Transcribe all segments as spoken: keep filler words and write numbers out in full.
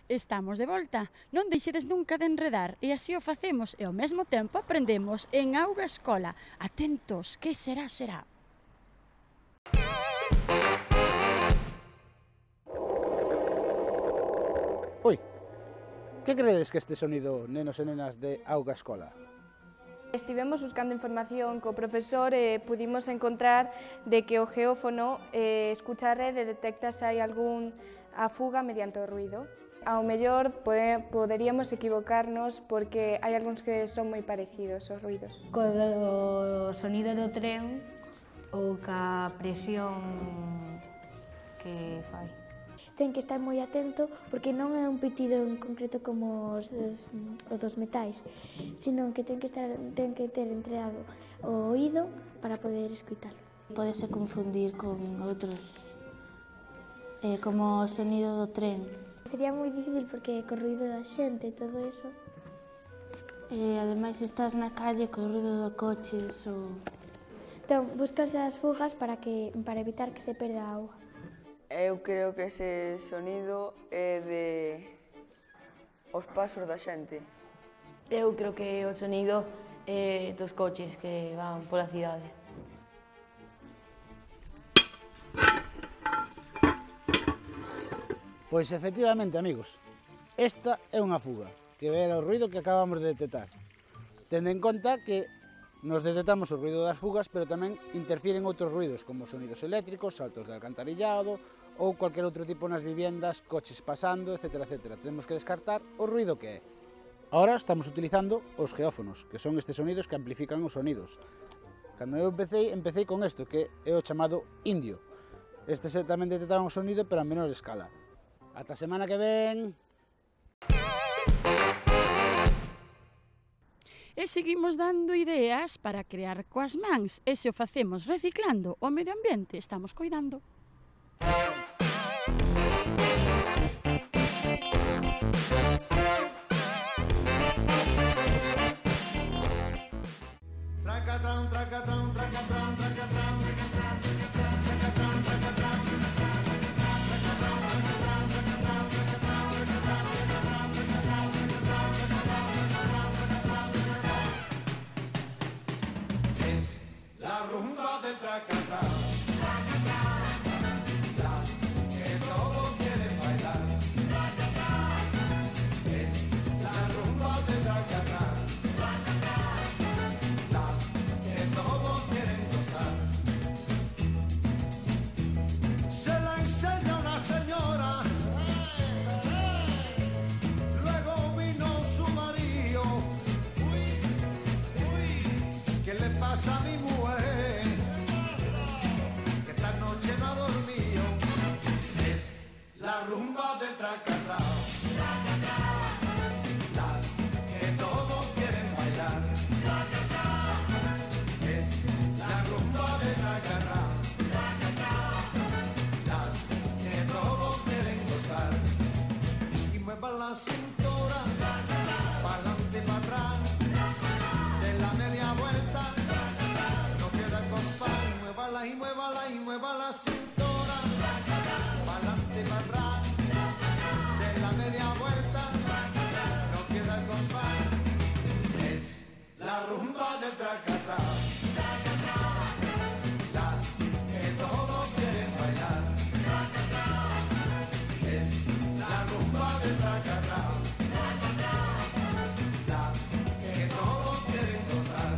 Estamos de volta, non deixedes nunca de enredar e así o facemos e ao mesmo tempo aprendemos en Auga Escola. Atentos, que será, será. Oi, que credes que este sonido, nenos e nenas de Auga Escola? Estivemos buscando información co profesor e pudimos encontrar de que o geófono eh, escucha a rede detecta se hai algún afuga mediante o ruido. Ao mellor pode, poderíamos equivocarnos porque hai algúns que son moi parecidos os ruidos. Co sonido do tren ou ca presión que fai. Ten que estar moi atento porque non é un pitido en concreto como os dos, os dos metais, sino que ten que, estar, ten que ter entregado o oído para poder escoitalo. Pódese confundir con outros, eh, como o sonido do tren. Sería moi difícil porque co ruido da xente e todo eso. E ademais estás na calle co ruido de coches ou... Entón, buscas as fugas para, que, para evitar que se perda a auga. Eu creo que ese sonido é de os pasos da xente. Eu creo que o sonido é dos coches que van pola cidade. Pois efectivamente, amigos, esta é unha fuga, que era o ruido que acabamos de detectar. Tendo en conta que nos detectamos o ruido das fugas, pero tamén interfiren outros ruidos, como sonidos eléctricos, saltos de alcantarillado, ou cualquier outro tipo nas viviendas, coches pasando, etcétera, etcétera. Temos que descartar o ruido que é. Ahora estamos utilizando os geófonos, que son estes sonidos que amplifican os sonidos. Cando eu empecé, empecé con isto, que é o chamado indio. Estes tamén detectaban o sonido, pero a menor escala. Ata a semana que ven! E seguimos dando ideas para crear coas mans. E se o facemos reciclando o medio ambiente, estamos coidando. Tracatran, tracatran, tracatran, tracatran, tracatran, tracatran, tracatran, la rumba del tracatán, la que todos quieren bailar. Es la rumba del tracatán, la que todos quieren gozar. Se la enseña una señora, luego vino su marido. Uy, uy, ¿qué le pasa a mi mujer? Que esta noche no ha dormido. Es la rumba del tracatán, la que todos quieren bailar. Es la rumba del tracatán, la que todos quieren gozar. Y mueva la cintura, pa'lante y pa' atrás, de la media vuelta, no queda compás. Muévala y muévala y mueva la cintura, pa'lante y pa' atrás, de la media vuelta, no queda compás. Es la rumba del tracatán, la que todos quieren bailar. Es la rumba del tracatán, la que todos quieren gozar.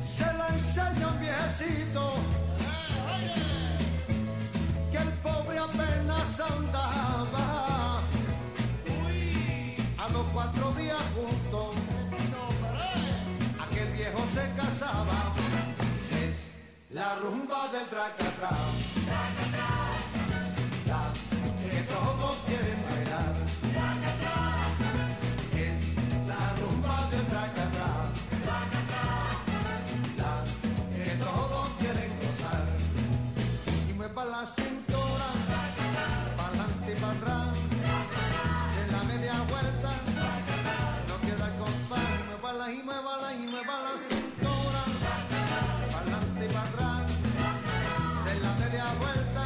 Se la enseña un viejecito, que el pobre apenas andaba. A los cuatro días juntos, aquel viejo se casaba. Es la rumba del tracatán, la que todos quieren bailar. Es la rumba del tracatán, la que todos quieren gozar. Y mueva la cintura, pa'lante y pa' atrás, de la media vuelta, no queda compás. Muévala y muévala y mueva la cintura, pa'lante y pa' atrás, de la media vuelta,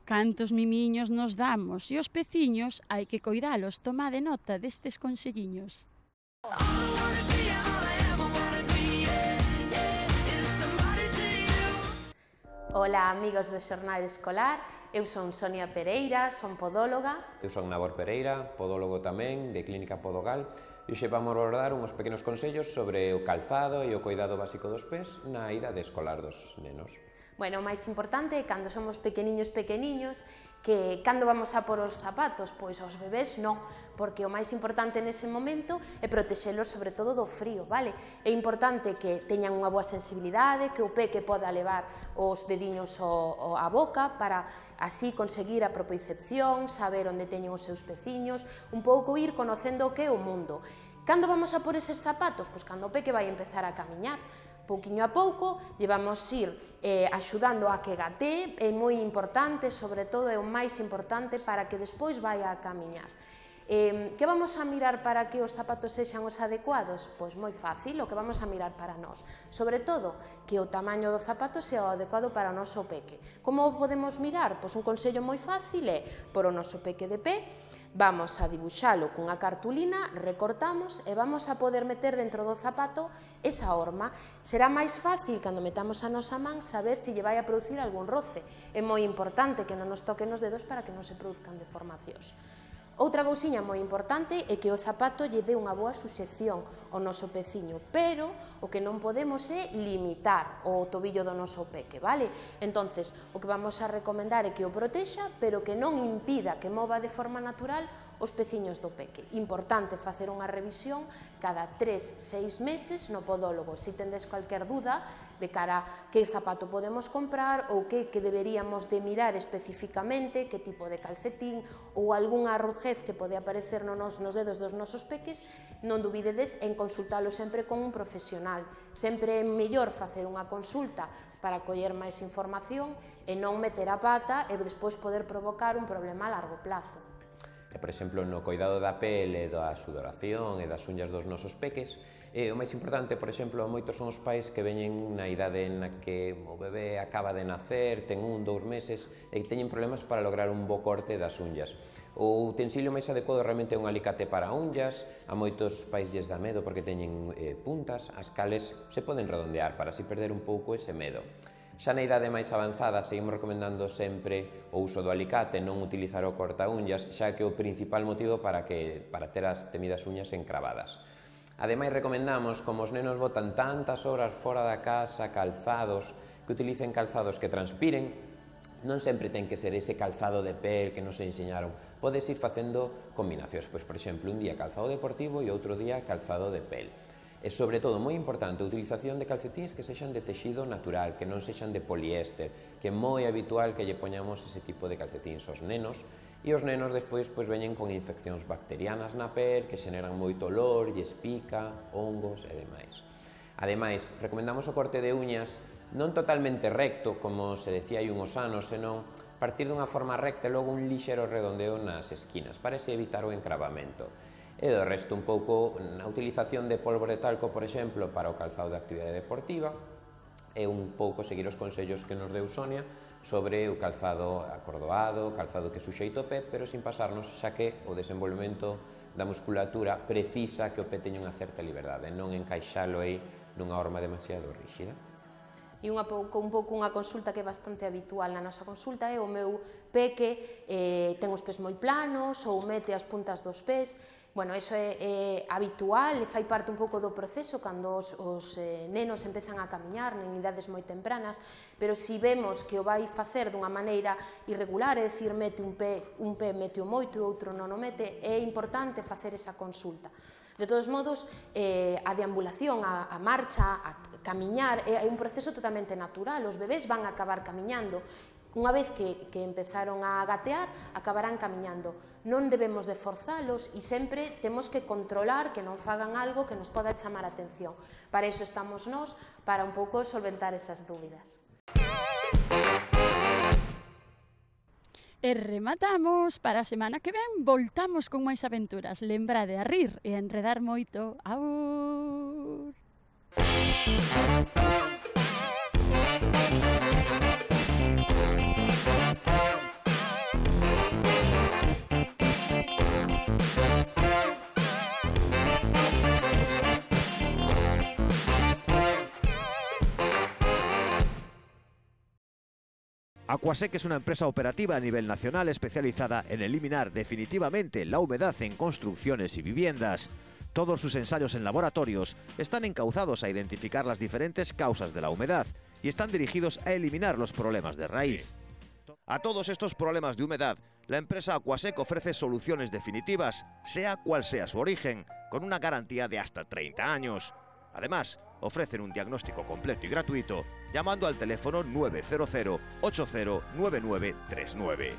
Cantos mimiños nos damos e os peciños hai que coidalos, tomade nota destes conselliños. Ola, amigos do Xornal Escolar, eu son Sonia Pereira, son podóloga. Eu son Nabor Pereira, podólogo tamén, de Clínica Podogal, e hoxe vamos abordar uns pequenos consellos sobre o calzado e o coidado básico dos pés na idade escolar dos nenos. Bueno, o máis importante é cando somos pequeniños pequeniños, que cando vamos a por os zapatos, pois aos bebés non, porque o máis importante nese momento é protexelos sobre todo do frío, vale? É importante que teñan unha boa sensibilidade, que o peque poda levar os dediños ao, á boca para así conseguir a propiocepción, saber onde teñen os seus peciños, un pouco ir conocendo o que é o mundo. Cando vamos a por eses zapatos? Pois cando o peque vai empezar a camiñar, pouquiño a pouco, lle vamos ir eh, axudando a que gatee, é moi importante, sobre todo é o máis importante para que despois vaya a camiñar. Eh, que vamos a mirar para que os zapatos sexan os adecuados? Pois moi fácil, o que vamos a mirar para nós. Sobre todo, que o tamaño do zapato sea o adecuado para o noso peque. Como o podemos mirar? Pois un consello moi fácil é, por o noso peque de pé, vamos a dibuixalo cunha cartulina, recortamos e vamos a poder meter dentro do zapato esa horma. Será máis fácil, cando metamos a nosa man, saber se lle vai a producir algún roce. É moi importante que non nos toquen os dedos para que non se produzcan deformacións. Outra cousiña moi importante é que o zapato lle dé unha boa suxección ao noso peciño, pero o que non podemos é limitar o tobillo do noso peque, vale? Entonces, o que vamos a recomendar é que o protexa, pero que non impida que mova de forma natural os peciños do peque. Importante facer unha revisión cada tres, seis meses no podólogo. Se tendes cualquier duda de cara a que zapato podemos comprar ou que, que deberíamos de mirar especificamente, que tipo de calcetín ou algunha arrugez que pode aparecer no nos, nos dedos dos nosos peques, non dubidedes en consultalo sempre con un profesional. Sempre é mellor facer unha consulta para coller máis información e non meter a pata e despois poder provocar un problema a largo plazo. E, por exemplo, no coidado da pele, da sudoración e das uñas dos nosos peques, e o máis importante, por exemplo, moitos son os pais que veñen na idade na que o bebé acaba de nacer, ten un, dous meses, e teñen problemas para lograr un bo corte das uñas. O utensilio máis adecuado realmente é un alicate para unhas, a moitos pais lles dá medo porque teñen eh, puntas, as cales se poden redondear para así perder un pouco ese medo. Xa na idade máis avanzada seguimos recomendando sempre o uso do alicate, non utilizar o cortaúñas, xa que é o principal motivo para, que, para ter as temidas uñas encravadas. Ademais, recomendamos, como os nenos botan tantas horas fora da casa, calzados, que utilicen calzados que transpiren. Non sempre ten que ser ese calzado de pel que nos enseñaron. Podes ir facendo combinacións, pois, por exemplo, un día calzado deportivo e outro día calzado de pel. E, sobre todo, moi importante, a utilización de calcetíns que sexan de texido natural, que non sexan de poliéster, que é moi habitual que lle poñamos ese tipo de calcetíns aos nenos, e os nenos despois pois, veñen con infeccións bacterianas na pel, que xeneran moito olor, lles pica, hongos e demais. Ademais, recomendamos o corte de uñas non totalmente recto, como se decía hai unhos anos, senón partir dunha forma recta e logo un lixero redondeo nas esquinas, para así evitar o encravamento. E do resto un pouco na utilización de polvo de talco, por exemplo, para o calzado de actividade deportiva, e un pouco seguir os consellos que nos deu Sonia sobre o calzado acordoado, calzado que suxeita o pé, pero sin pasarnos, xa que o desenvolvemento da musculatura precisa que o pé teña unha certa liberdade, non encaixalo aí nunha horma demasiado ríxida. E unha pouco, un pouco unha consulta que é bastante habitual na nosa consulta é o meu peque eh, ten os pés moi planos ou mete as puntas dos pés. Bueno, iso é, é habitual e fai parte un pouco do proceso cando os, os eh, nenos empezan a camiñar en idades moi tempranas, pero se vemos que o vai facer dunha maneira irregular, é dicir, mete un pé, un pé mete o moito e outro non o mete, é importante facer esa consulta. De todos modos, eh, a deambulación, a, a marcha, a camiñar, é un proceso totalmente natural, os bebés van a acabar camiñando. Unha vez que, que empezaron a gatear, acabarán camiñando. Non debemos de forzalos e sempre temos que controlar que non fagan algo que nos poda chamar a atención. Para iso estamos nós, para un pouco solventar esas dúbidas. E rematamos, para a semana que ven voltamos con máis aventuras. Lembrade a rir e a enredar moito. Aur! Aquasec es una empresa operativa a nivel nacional especializada en eliminar definitivamente la humedad en construcciones y viviendas. Todos sus ensayos en laboratorios están encauzados a identificar las diferentes causas de la humedad y están dirigidos a eliminar los problemas de raíz. A todos estos problemas de humedad, la empresa Aquasec ofrece soluciones definitivas, sea cual sea su origen, con una garantía de hasta treinta años. Además, ofrecen un diagnóstico completo y gratuito llamando al teléfono nueve cero cero, ocho cero nueve nueve tres nueve.